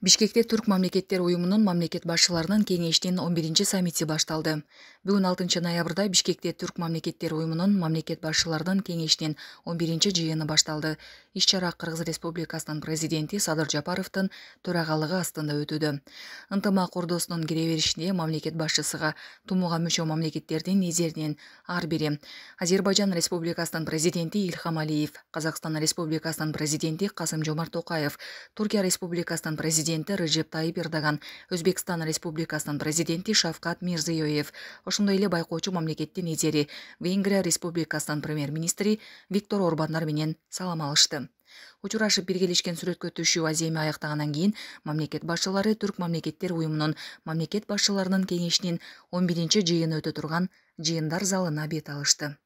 Бишкекте Түрк мамлекеттер уюмунун мамлекет башчыларынын кеңешинин 11-чи саммити башталды. Бүгүн 6 ноябрда Бишкекте Түрк мамлекеттер уюмунун мамлекет башчыларынын кеңешинин 11-чи жыйыны башталды. Иш-чара Кыргыз Республикасынын президенти Садыр Жапаровдун төрагалыгы астында өтүүдө. Ынтымак ордосунун кире беришинде мамлекет башчысыга тумууга мүчө мамлекеттердин лидеринин ар бири Азербайжан Республикасынын президенти Ильхам Алиев, Казакстан Республикасынын президенти Касым-Жомарт Токаев, Туркия Республикасынын президенти Режеп Тайип Эрдоган, Өзбекстан Республикасынын президенти Шавкат Мирзиёев, ошондой эле байкоочу мамлекеттин лидери Венгрия Республикасынын премьер-министри Виктор Орбандар менен салам алышты. Учурашып биргелешкен сүрөткө түшүү аземи аяктагандан кийин мамлекет башчылары Түрк мамлекеттер уюмунун мамлекет башчыларынын кеңешинин 11-чи жыйыны өтө турган жыйындар залына бет алышты.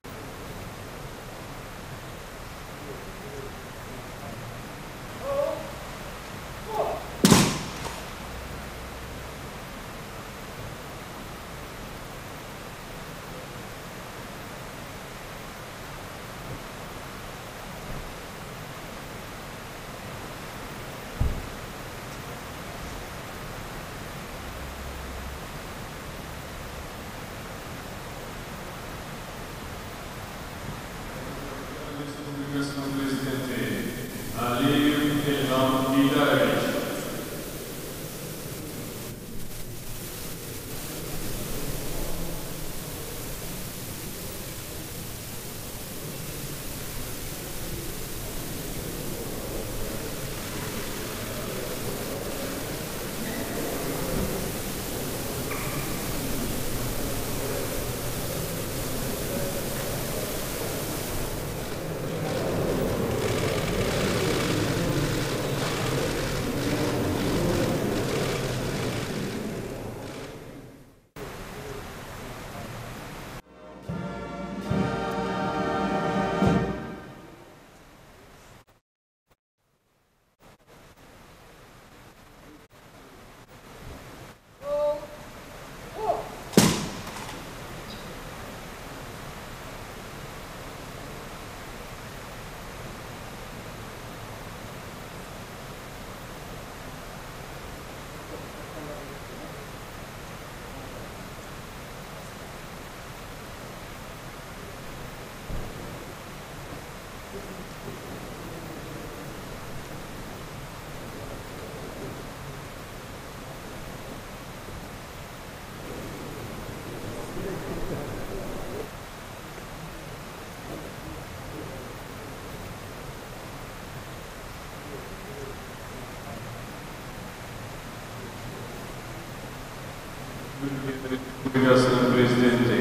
Республикасынын президенти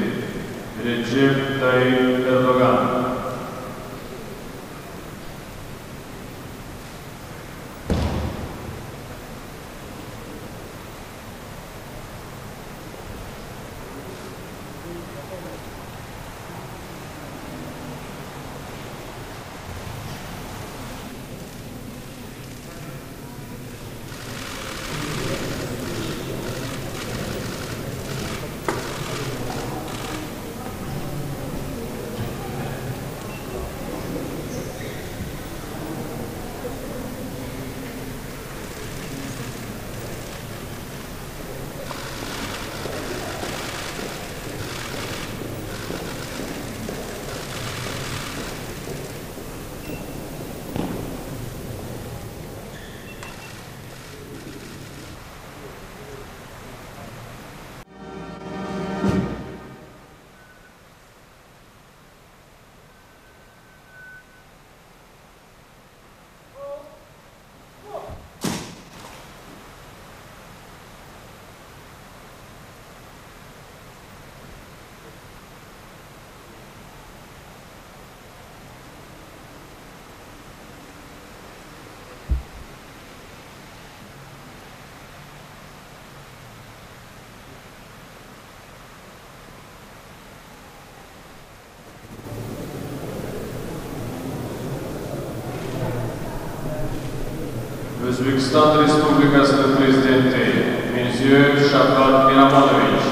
Режеп Тайип Эрдоган. Өзбекстан Республикасынын президенти Мирзиёев Шавкат Мирамонович.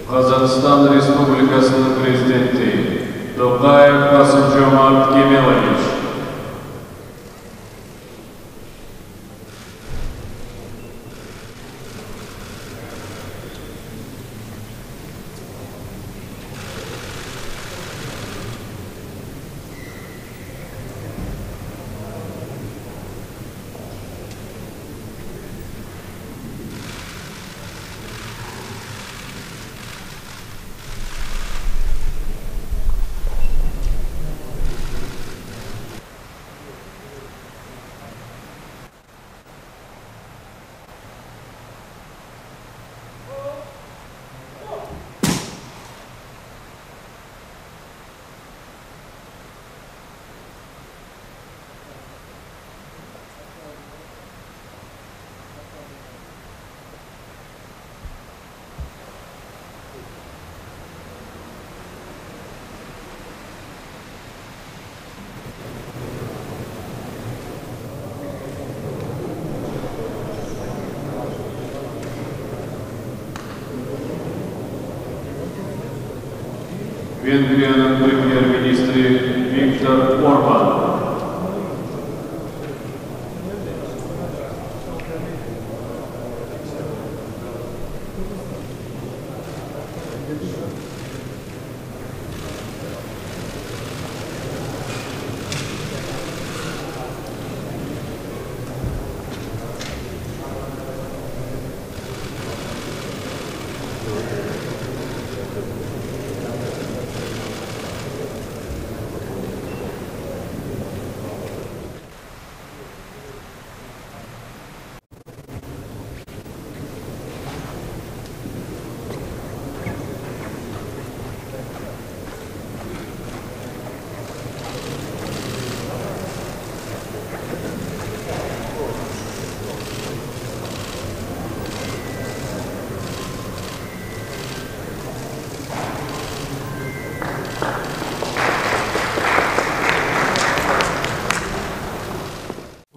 Казахстан Республикасынын президенти Токаев Касым-Жомарт Кемелович. Венгриянын премьер-министри Виктор Орбан.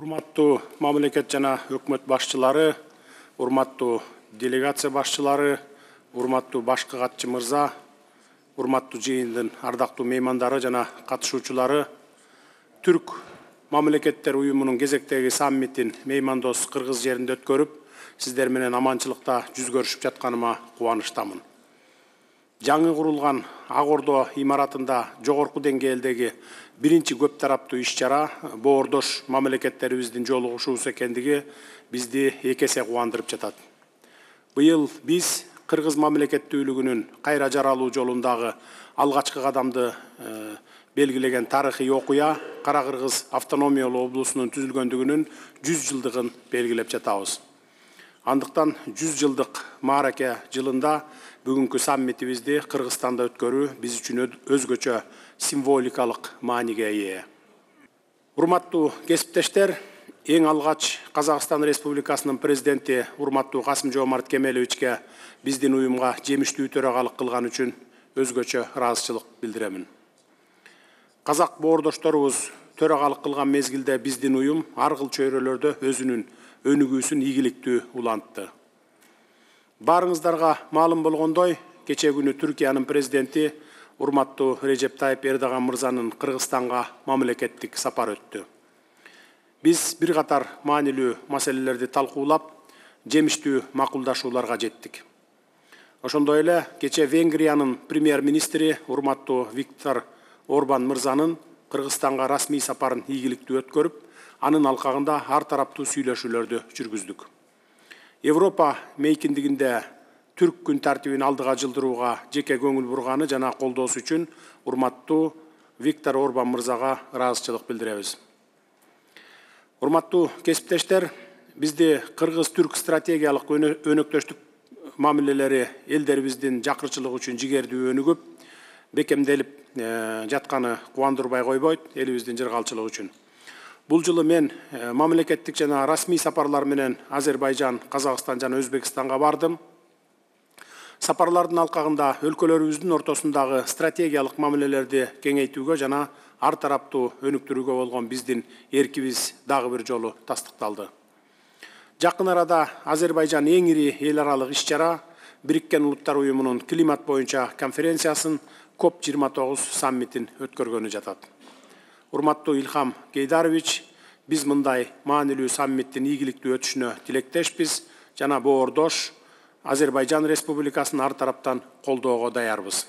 Урматтуу мамлекет жана өкмөт башчылары, урматтуу делегация башчылары, урматтуу башкы катчы мырза, урматтуу жыйындын ардактуу меймандары жана катышуучулары, Түрк мамлекеттер уюмунун кезектеги саммитин меймандос Кыргыз жеринде өткөрүп, сиздер менен аманчылыкта жүз көрүшүп жатканыма кубанычтамын. Жаңы курулган Ак Ордо имаратында жогорку деңгээлдеги биринчи көп тараптуу иш-чара боордош мамлекеттерибиздин жолугушуусу экендиги бизди эки эсе кубандырып жатат. Быйыл биз Кыргыз мамлекеттүүлүгүнүн кайра жаралуу жолундагы алгачкы кадамды белгилеген тарыхый окуя Кара Кыргыз автономиялуу облусунун түзүлгөндүгүнүн 100 жылдыгын белгилеп жатабыз. Андыктан 100 жылдык маараке жылында бүгүнкү саммитибизди Кыргызстанда өткөрүү биз үчүн өзгөчө символикалык мааниге ээ. Урматтуу кесиптештер, эң алгач Казакстан Республикасынын президенти урматтуу Касым-Жомарт Кемеловичке биздин уюмга жемиштүү төрагалык кылган үчүн өзгөчө ыраазычылык билдиремин. Казак боордошторубуз төрагалык кылган мезгилде биздин уюм ар кыл чөйрөлөрдө өзүнүн өнүгүүсүн ийгиликтүү улантты. Барыңыздарга маалым болгондой, кече күнү Түркиянын президенти урматтуу Режеп Тайып Эрдоган мырзанын Кыргызстанга мамлекеттик сапары өттү. Биз бир катар маанилүү маселелерди талкуулап, жемиштүү макулдашууларга жеттик. Ошондой эле кече Венгриянын премьер-министри урматтуу Виктор Орбан мырзанын Кыргызстанга расмий сапарын ийгиликтүү өткөрүп, анын алкагында ар тараптуу сүйлөшүүлөрдү жүргүздүк. Европа мейкиндигинде Түрк күн тартибин алдыга жылдырууга жеке көңүл бурганы жана колдоосу үчүн урматтуу Виктор Орбан мырзага ыраазычылык билдиребиз. Урматтуу кесиптештер, бизди Кыргыз-Түрк стратегиялык өнөктөштүк мамилелери элдерибиздин жакырчылыгы үчүн жигердүү өнүгүп, бекемделип жатканы кубандырбай койбойт, элибиздин жыргалчылыгы үчүн. Бул жылы мен мамлекеттик жана расмий сапарлар менен Азербайжан, Казакстан жана Өзбекстанга бардым. Сапарлардын алкагында өлкөлөрүбүздүн ортосундагы стратегиялык мамилелерди кеңейтүүгө жана ар тараптуу өнүктүрүүгө болгон биздин эркибиз дагы бир жолу тастыкталды. Жакын арада Азербайжан эң ири эл аралык иш-чара Бириккен Улуттар Уюмунун климат боюнча конференциясын COP29 саммитин өткөргөнү жатат. Урматтуу Илхам Гейдарович, биз мындай маанилүү саммиттин ийгиликтүү өтүшүнө тилектешпиз жана боордош Азербайжан Республикасын ар тараптан колдоого даярбыз.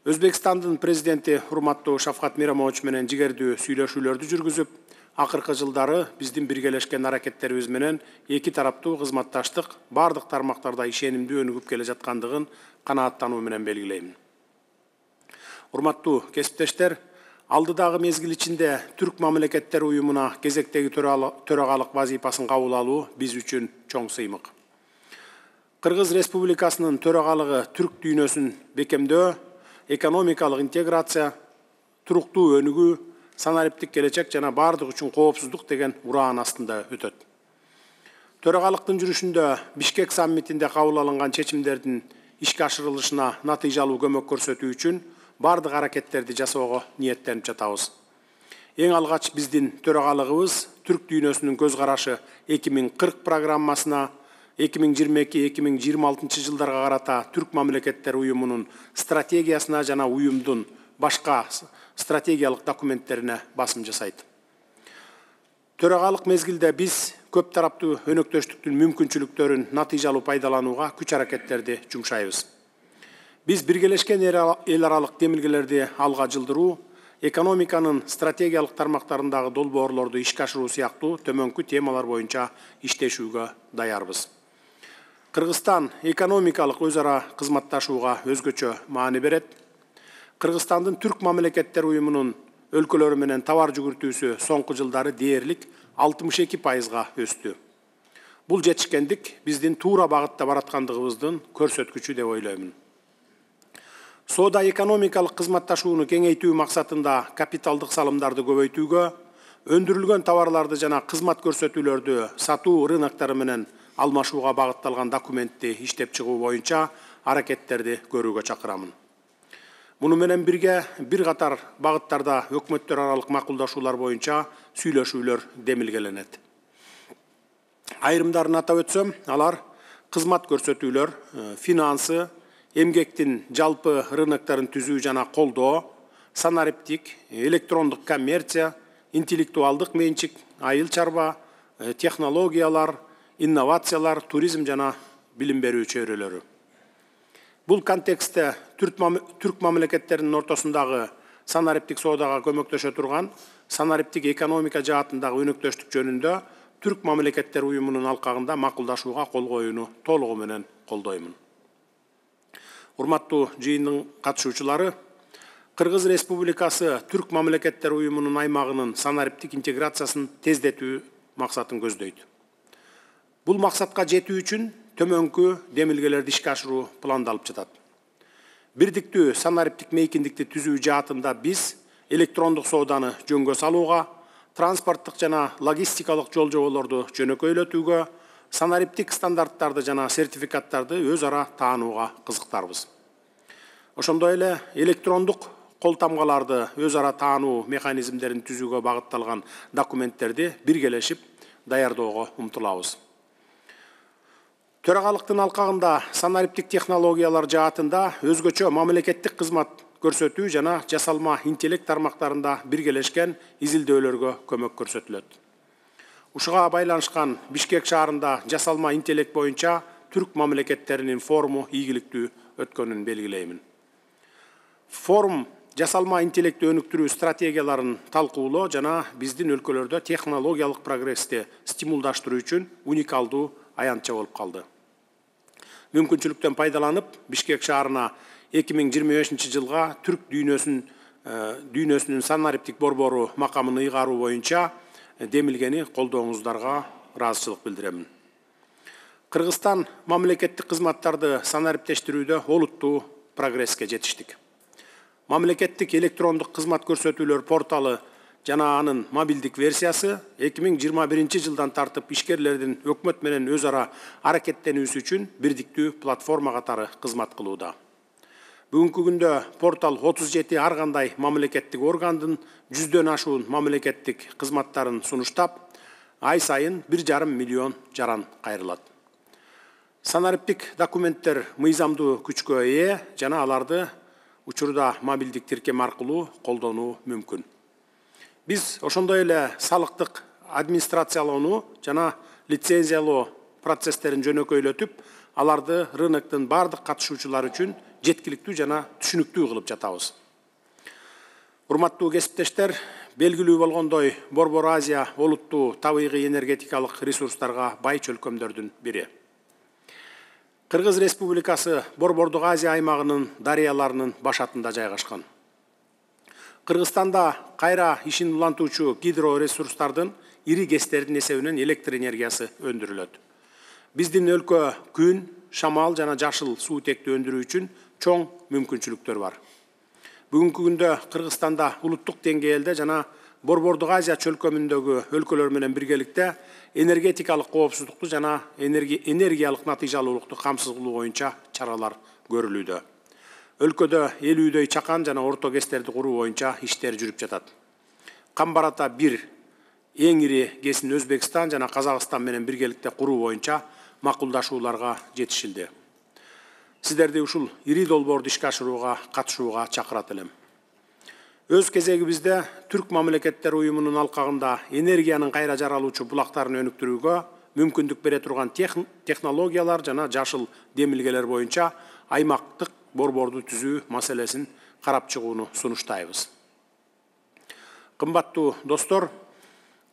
Өзбекстандын президенти урматтуу Шавкат Миромович менен жигердүү сүйлөшүүлөрдү жүргүзүп, акыркы жылдары биздин биргелешкен аракеттерибиз менен эки тараптуу кызматташтык бардык тармактарда ишенимдүү өнүгүп келе жаткандыгын канааттануу менен белгилейм. Урматтуу кесиптештер, алдыдагы мезгил ичинде Түрк мамлекеттери уюмуна кезектеги төрагалык вазифасын кабыл алуу биз үчүн чоң сыймык. Кыргыз Республикасынын төрагалыгы түрк дүйнөсүн бекемдөө, экономикалык интеграция, туруктуу өнүгүү, санариптик келечек жана бардык үчүн коопсуздук деген ураан астында өтөт. Төрагалыктын жүрүшүндө Бишкек саммитинде кабыл алынган чечимдердин ишке ашырылышына натыйжалуу көмөк көрсөтүү үчүн бардык аракеттерди жасоого ниеттенип жатабыз. Эң алгач биздин төрагалыгыбыз түрк дүйнөсүнүн көз карашы 2040 программасына 2022-2026 жылдарга карата Түрк мамлекеттери уюмунун стратегиясына жана уюмдун башка стратегиялык документтерине басым жасайт. Төрагалык мезгилде биз көп тараптуу өнөктөштүктүн мүмкүнчүлүктөрүн натыйжалуу пайдаланууга күч аракеттерди жумшайбыз. Биз биргелешкен эл аралык демилгелерди алга жылдыруу, экономиканын стратегиялык тармактарындагы долбоорлорду ишке ашыруу сыяктуу төмөнкү темалар боюнча иштешүүгө даярбыз. Кыргызстан экономикалык өз ара кызматташууга өзгөчө маани берет. Кыргызстандын Түрк мамлекеттери уюмунун өлкөлөрү менен товар жүгүртүүсү соңку жылдары дээрлик 62%га өстү. Бул жетишкендик биздин туура багытта бараткандыгыбыздын көрсөткүчү деп ойлоймун. Соода экономикалык кызматташууну кеңейтүү максатында капиталдык салымдарды көбөйтүүгө, өндүрүлгөн товарларды жана кызмат көрсөтүүлөрдү сатуу рыноктары менен алмашууга багытталган документти иштеп чыгуу боюнча аракеттерди көрүүгө чакырамын. Муну менен бирге бир катар багыттарда өкмөттөр аралык макулдашуулар боюнча сүйлөшүүлөр демилгеленет. Айрымдарын атап өтсөм, алар кызмат көрсөтүүлөр, финансы, эмгектин жалпы рыноктарын түзүү жана колдоо, санариптик, электрондук коммерция, интеллектуалдык менчик, айыл чарба, технологиялар, инновациялар, туризм жана билим берүү чөйрөлөрү. Бул контекстте түрк мамлекеттеринин ортосундагы санариптик соодага көмөктөшө турган санариптик экономика жаатындагы өнөктөштүк жөнүндө Түрк мамлекеттери уюмунун алкагында макулдашууга кол коюуну толугу менен колдоймун. Урматтуу жыйындын катышуучулары, Кыргыз Республикасы Түрк мамлекеттери уюмунун аймагынын санариптик интеграциясын тездетүү максатын көздөйт. Бул максатка жетүү үчүн төмөнкү демилгелерди ишке ашыруу пландалып жатат. Бирдиктүү санариптик мейкиндикти түзүү жаатында биз электрондук сооданы жөнгө салууга, транспорттук жана логистикалык жол-жоболорду жөнөкөйлөтүүгө, санариптик стандарттарды жана сертификаттарды өз ара таанууга кызыктарбыз. Ошондой эле электрондук кол тамгаларды өз ара таануу механизмдерин түзүүгө багытталган документтерди биргелешип даярдоого умтулабыз. Төрагалыктын алкагында санариптик технологиялар жаатында өзгөчө мамлекеттик кызмат көрсөтүү жана жасалма интеллект тармактарында биргелешкен изилдөөлөргө көмөк көрсөтүлөт. Ушуга байланышкан Бишкек шаарында жасалма интеллект боюнча түрк мамлекеттеринин форуму ийгиликтүү өткөнүн белгилеймин. Форум жасалма интеллектти өнүктүрүү стратегияларын талкуулоо жана биздин өлкөлөрдө технологиялык прогрессти стимулдаштыруу үчүн уникалдуу аянтча болуп калды. Мүмкүнчүлүктөн пайдаланып, Бишкек шаарына 2025 жылга түрк дүйнөсүнүн санариптик борбору макамын ыйгаруу боюнча демилгени колдооңуздарга ыраазычылык билдиремин. Кыргызстан мамлекеттик кызматтарды санариптештирүүдө олуттуу прогресске жетиштик. Мамлекеттик электрондук кызмат көрсөтүүлөр порталы жана анын мобилдик версиясы 2021 жылдан тартып ишкерлердин өкмөт менен өз ара аракеттенүүсү үчүн бирдиктүү платформа катары кызмат кылууда. Бүгүнкү күндө портал 37 ар кандай мамлекеттик органдын 100дөн ашуун мамлекеттик кызматтарын сунуштап, ай сайын 1,5 миллион жаран кайрылат. Санариптик документтер мыйзамдуу күчкө ээ жана аларды учурда мобилдик тиркем аркылуу колдонуу мүмкүн. Биз ошондой эле салыктык администрациялоону жана лицензиялоо процесстерин жөнөкөйлөтүп, аларды рыноктун бардык катышуучулары үчүн жеткиликтүү жана түшүнүктүү кылып жатабыз. Урматтуу кесиптештер, белгилүү болгондой, Борбор Азия олуттуу табигый энергетикалык ресурстарга бай чөлкөмдөрдүн бири. Кыргыз Республикасы Борбордук Азия аймагынын дарыяларынын башатында жайгашкан. Кыргызстанда кайра ишин улантуучу гидроресурстардын ири кестердин эсебинен электр энергиясы өндүрүлөт. Биздин өлкө күн, шамал жана жашыл суутекти өндүрүү үчүн чоң мүмкүнчүлүктөр бар. Бүгүнкү күндө Кыргызстанда улуттук деңгээлде жана Борбордук Азия чөлкөмүндөгү өлкөлөр менен биргеликте энергетикалык коопсуздукту жана энергиялык натыйжалуулукту камсыз кылуу боюнча чаралар көрүлүүдө. Өлкөдө 50дөй чакан жана орто кестерди куруу боюнча иштер жүрүп жатат. Камбарата 1 эң ири кесин Өзбекстан жана Казакстан менен биргеликте куруу боюнча макулдашууларга жетишилди. Сиздерди ушул ири долбоорду ишке ашырууга катышууга чакырат элем. Өз кезегибизде Түрк мамлекеттер уюмунун алкагында энергиянын кайра жаралуучу булактарын өнүктүрүүгө мүмкүндүк бере турган технологиялар жана жашыл демилгелер боюнча аймактык борборду түзүү маселесин карап чыгууну сунуштайбыз. Кымбаттуу достор,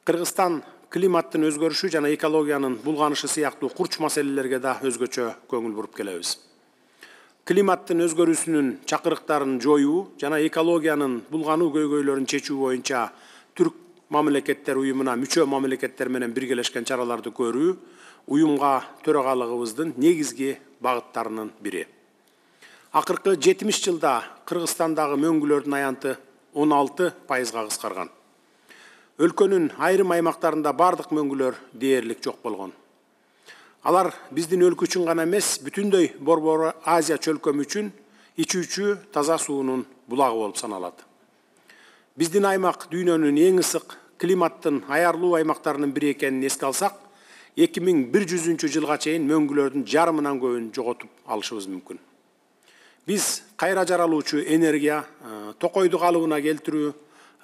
Кыргызстан климаттын өзгөрүшү жана экологиянын булганышы сыяктуу курч маселелерге да өзгөчө көңүл буруп келебиз. Климаттын өзгөрүүсүнүн чакырыктарын жоюу жана экологиянын булгануу көйгөйлөрүн чечүү боюнча Түрк мамлекеттер уюмуна мүчө мамлекеттер менен биргелешкен чараларды көрүү уюмга төрагалыгыбыздын негизги багыттарынын бири. Акыркы 70 жылда Кыргызстандагы мөңгүлөрдүн аянты 16%га кыскарган. Өлкөнүн айрым аймактарында бардык мөңгүлөр дээрлик жок болгон. Алар биздин өлкө үчүн гана эмес, бүтүндөй Борбор Азия чөлкөмү үчүн ичүүчү таза суунун булагы болуп саналат. Биздин аймак дүйнөнүн эң ысык климаттын аярлуу аймактарынын бири экенин эске алсак, 2100 жылга чейин мөңгүлөрдүн жарымынан көбүн жоготуп алышыбыз мүмкүн. Биз кайра жаралуучу энергия, токойду калыбына келтирүү,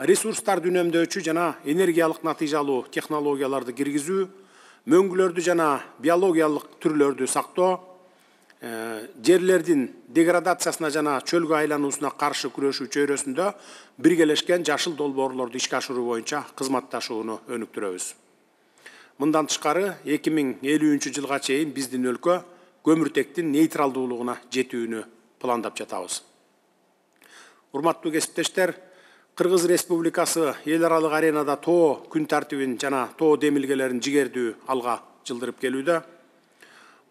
ресурстарды үнөмдөөчү жана энергиялык натыйжалуу технологияларды киргизүү, мөңгүлөрдү жана биологиялык түрлөрдү сактоо, жерлердин деградациясына жана чөлгө айлануусуна каршы күрөшүү чөйрөсүндө биргелешкен жашыл долбоорлорду ишке ашыруу боюнча кызматташууну өнүктүрөбүз. Мындан тышкары 2050 жылга чейин биздин өлкө көмүртектин нейтралдуулугуна жетүүнү пландап жатабыз. Урматтуу кесиптештер, Кыргыз Республикасы эл аралык аренада тоо күн тартибин жана тоо демилгелерин жигердүү алга жылдырып келүүдө.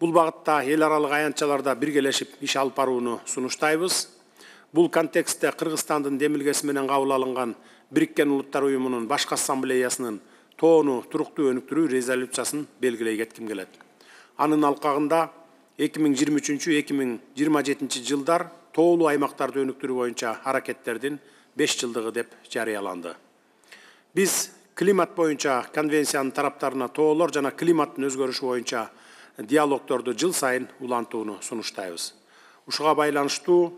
Бул багытта эл аралык аянтчаларда биргелешип иш алып барууну сунуштайбыз. Бул контекстте Кыргызстандын демилгеси менен кабыл алынган Бириккен Улуттар уюмунун башкы ассамблеясынын тоону туруктуу өнүктүрүү резолюциясын белгилей кетким келет. Анын алкагында 2023-2027 жылдар тоолуу аймактарды өнүктүрүү боюнча аракеттердин 5 жылдыгы деп жарыяланды. Биз климат боюнча конвенциянын тараптарына тоолор жана климаттын өзгөрүшү боюнча диалогторду жыл сайын улантууну сунуштайбыз. Ушуга байланыштуу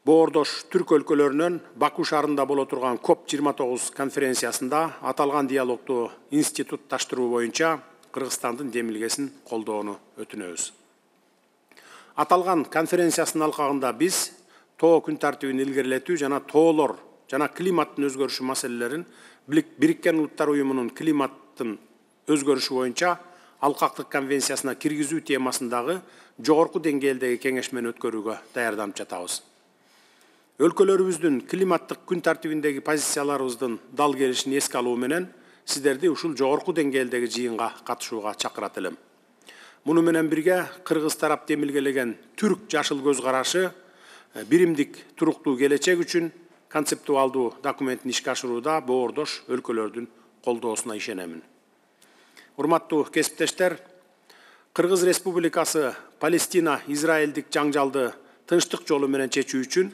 боордош түрк өлкөлөрүнөн Баку шаарында боло турган COP29 конференциясында аталган диалогду институтташтыруу боюнча Кыргызстандын демилгесин колдоону өтүнөбүз. Аталган конференциясынын алкагында биз тоо күн тартибин илгерилетүү жана тоолор жана климаттын өзгөрүшү маселелерин Бириккен Улуттар уюмунун климаттын өзгөрүшү боюнча алкактык конвенциясына киргизүү темасындагы жогорку деңгээлдеги кеңешмени өткөрүүгө даярданып жатабыз. Өлкөлөрүбүздүн климаттык күн тартибиндеги позицияларыбыздын дал келишин эске алуу менен сиздерди ушул жогорку деңгээлдеги жыйынга катышууга чакырат элем. Муну менен бирге кыргыз тарап демилгелеген түрк жашыл көз карашы биримдик туруктуу келечек үчүн концептуалдуу документин ишке ашырууда боордош өлкөлөрдүн колдоосуна ишенемин. Урматтуу кесиптештер, Кыргыз Республикасы Палестина-Израилдик жаңжалды тынчтык жолу менен чечүү үчүн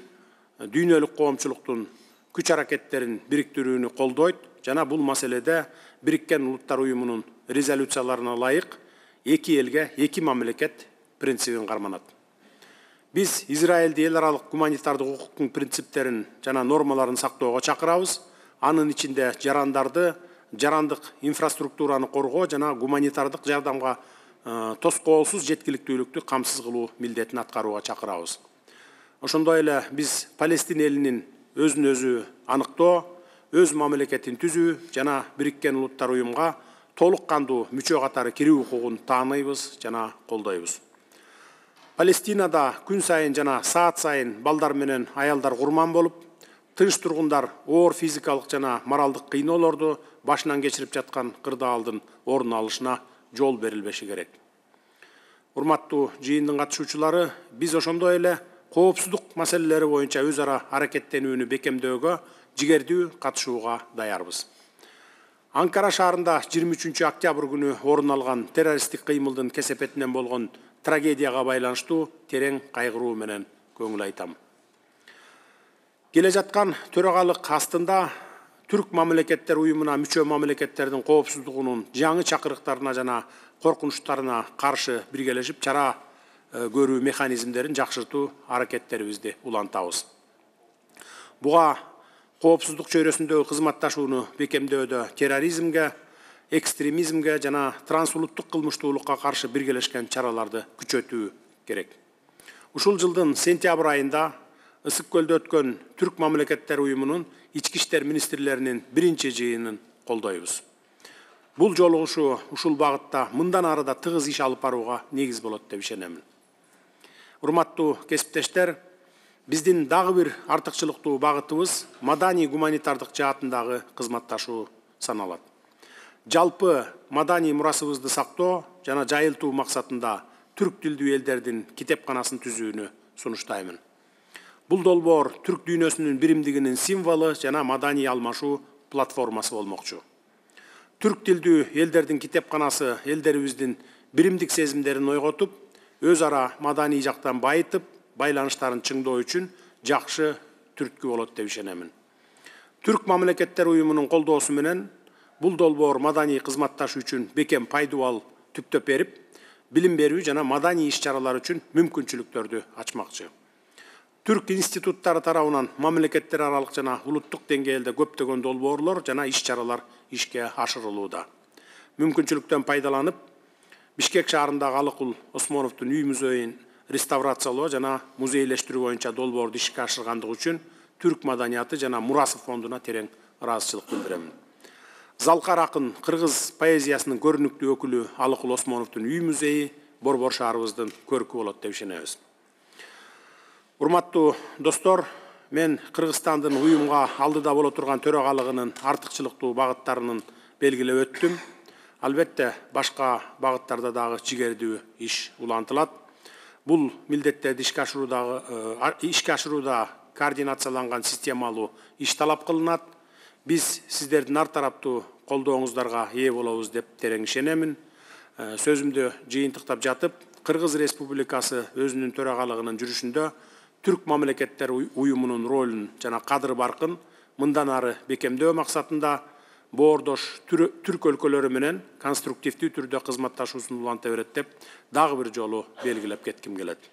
дүйнөлүк коомчулуктун күч аракеттерин бириктирүүнү колдойт жана бул маселеде Бириккен Улуттар уюмунун резолюцияларына ылайык эки элге эки мамлекет принцибин карманат. Биз Израилди эл аралык гуманитардык укуктун принциптерин жана нормаларын сактоого чакырабыз. Анын ичинде жарандарды, жарандык инфраструктураны коргоо жана гуманитардык жардамга тоскоолсуз жеткиликтүүлүктү камсыз кылуу милдетин аткарууга чакырабыз. Ошондой эле биз Палестин элинин өзүн өзү аныктоо, өз мамлекетин түзүү жана Бириккен Улуттар Уюмга толук кандуу мүчө катары кирүү укугун тааныйбыз жана колдойбуз. Палестинада күн сайын жана саат сайын балдар менен аялдар курман болуп, тынч тургундар оор физикалык жана моралдык кыйноолорду башынан кечирип жаткан кырдаалдын орун алышына жол берилбеши керек. Урматтуу жыйындын катышуучулары, биз ошондой эле коопсуздук маселелери боюнча өз ара аракеттенүүнү бекемдөөгө жигердүү катышууга даярбыз. Анкара шаарында 23 октябрь күнү орун алган террористтик кыймылдын кесепетинен болгон трагедияга байланыштуу терең кайгыруу менен көңүл айтам. Келе жаткан төрагалык астында Түрк мамлекеттер уюмуна мүчө мамлекеттердин коопсуздугунун жаңы чакырыктарына жана коркунучтарына каршы биргелешип чара көрүү механизмдерин жакшыртуу аракеттерибизди улантабыз. Буга коопсуздук чөйрөсүндөгү кызматташууну бекемдөөдө терроризмге, экстремизмге жана трансулуттук кылмыштуулукка каршы биргелешкен чараларды күчөтүү керек. Ушул жылдын сентябрь айында Ысык көлдө өткөн Түрк мамлекеттер уюмунун ички иштер министрлеринин биринчи жыйынын колдойбуз. Бул жолугушуу ушул багытта мындан ары да тыгыз иш алып барууга негиз болот деп ишенемин. Урматтуу кесиптештер, биздин дагы бир артыкчылыктуу багытыбыз маданий гуманитардык жаатындагы кызматташуу саналат. Жалпы маданий мурасыбызды сактоо жана жайылтуу максатында түрк тилдүү элдердин китепканасын түзүүнү сунуштаймын. Бул долбоор түрк дүйнөсүнүн биримдигинин символу жана маданий алмашуу платформасы болмокчу. Түрк тилдүү элдердин китепканасы элдерибиздин биримдик сезимдерин ойготуп, өз ара маданий жактан байытып, байланыштарын чыңдоо үчүн жакшы түрткү болот деп ишенемин. Түрк мамлекеттер уюмунун колдоосу менен бул долбоор маданий кызматташ үчүн бекем пайдубал түптөп берип, билим берүү жана маданий иш-чаралар үчүн мүмкүнчүлүктөрдү ачмакчы. Түрк институттары тарабынан мамлекеттер аралык жана улуттук деңгээлде көптөгөн долбоорлор жана иш-чаралар ишке ашырылууда. Мүмкүнчүлүктөн пайдаланып, Бишкек шаарындагы Алыкул Осмоновдун үй музейин реставрациялоо жана музейлештирүү боюнча долбоорду ишке ашыргандыгы үчүн түрк маданияты жана мурасы фондуна терең ыраазычылык билдирем. Залкар акын кыргыз поэзиясынын көрүнүктүү өкүлү Алыкул Осмоновдун үй музейи борбор шаарыбыздын көркү болот деп ишенебиз. Урматтуу достор, мен Кыргызстандын уюмга алдыда боло турган төрагалыгынын артыкчылыктуу багыттарынын белгилеп өттүм. Албетте, башка багыттарда дагы жигердүү иш улантылат. Бул милдеттерди ишке ашырууда координацияланган системалуу иш талап кылынат. Биз сиздердин ар тараптуу колдооңуздарга ээ болобуз деп терең ишенемин. Сөзүмдү жыйынтыктап жатып, Кыргыз Республикасы өзүнүн төрагалыгынын жүрүшүндө Түрк мамлекеттер уюмунун ролун жана кадыр баркын мындан ары бекемдөө максатында боордош түрк өлкөлөрү менен конструктивдүү түрдө кызматташуусун уланта берет деп дагы бир жолу белгилеп кетким келет.